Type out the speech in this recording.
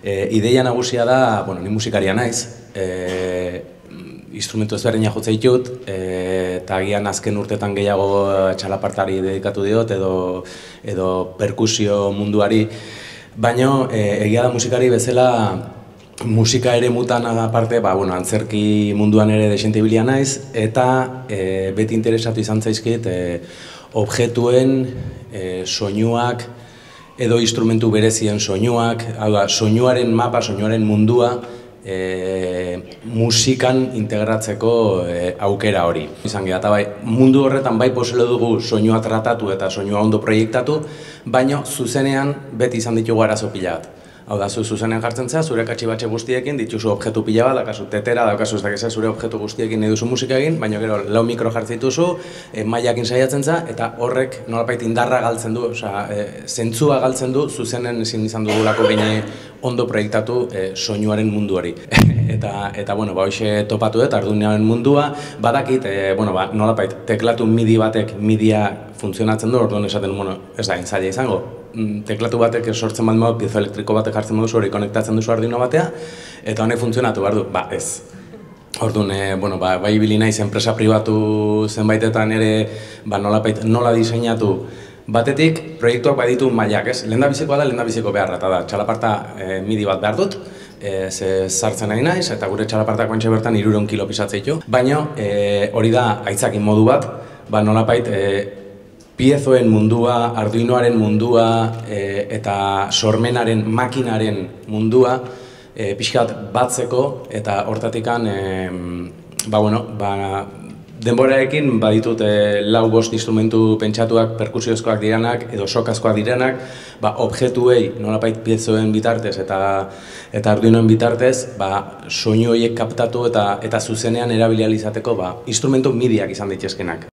Ideia nagusia da, ni musikaria naiz, instrumentu ezberdinak jotze ditut, eta agian azken urtetan gehiago txalapartari dedikatu diot edo perkusio munduari, baina egia da musikari bezala musika ere mutan aparte, antzerki munduan ere desente ibilia naiz, eta beti interesatu izan zaizkit objektuen, soinuak, edo instrumentu berezien soinuak, soinuaren mapa, soinuaren mundua, musikan integratzeko aukera hori. Izan gira, eta mundu horretan bai poselo dugu soinua tratatu eta soinua ondo proiektatu, baina zuzenean beti izan ditugu arazo pila bat. Hau da, zuzenean jartzen zea, zure katxibatxe guztiekin, dituzu objektu pila bat, dakazu tetera, dakazu ez dakizea zure objektu guztiekin nahi duzu musika egin, baina gero lau mikro jartzituzu, mailakin saiatzen za, eta horrek nolapait indarra galtzen du, zentzua galtzen du, zuzenen ezin izan dugulako gine ondo proiektatu soinuaren munduari. Eta hoxe topatu dut, Arduinoaren mundua, badakit, nolapait, teklatu midi batek midia funtzionatzen du, orduan esaten, ez da, entzaila izango. Teklatu batek sortzen bat modu, piezo elektriko batek jartzen duzu hori konektatzen duzu Arduino batea, eta honek funtzionatu behar du, ez. Orduan, bai ibili naiz enpresa pribatu zenbaitetan ere nola diseinatu batetik, proiektuak baditu mailak, ez? Lehendabizikoa da, lehendabiziko beharra, eta da, txalaparta midi bat behar dut, sartzen nahi naiz, eta gure txalapartak bantxe bertan 300 kilo pisatzeitu, baina hori da aitzakin modu bat, nolapait piezoen mundua, Arduinoaren mundua eta sormenaren, makinaren mundua pixkat batzeko eta hortatikan denborarekin baditut 4-5 instrumentu pentsatuak perkusiozkoak direnak edo sokazkoak direnak, objektuei nolapait piezoen bitartez eta Arduinoen bitartez soinu horiek kaptatu eta zuzenean erabili ahal izateko instrumentu midiak izan daitezkenak.